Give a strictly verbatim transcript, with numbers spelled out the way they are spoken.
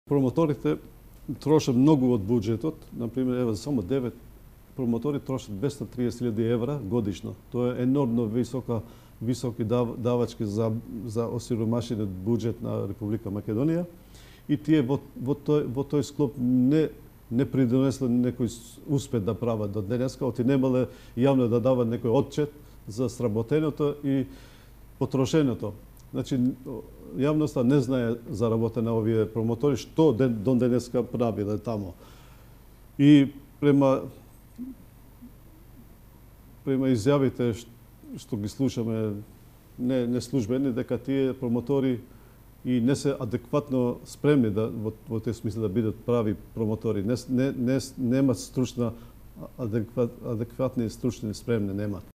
Промоторите трошат многу од буџетот, например, ева само девет промотори трошат двесте и триесет илјади евра годишно. Тоа е енормно висока високи дав, давачки за за осиромашениот буџет на Република Македонија и тие во во тој во тој склоп не не придонесле некој успех да прават до денеска, оти немале јавно да дават некој отчет за сработеното и потрошеното. Значи, јавноста не знае за работа на овие промотори, што ден, до денеска правиле тамо. И према према изјавите што ги слушаме не, не службени, дека тие промотори и не се адекватно спремни да во, во тој смисла да бидат прави промотори. Не, не, не немаат стручна адекват, адекватни стручни спремни немаат.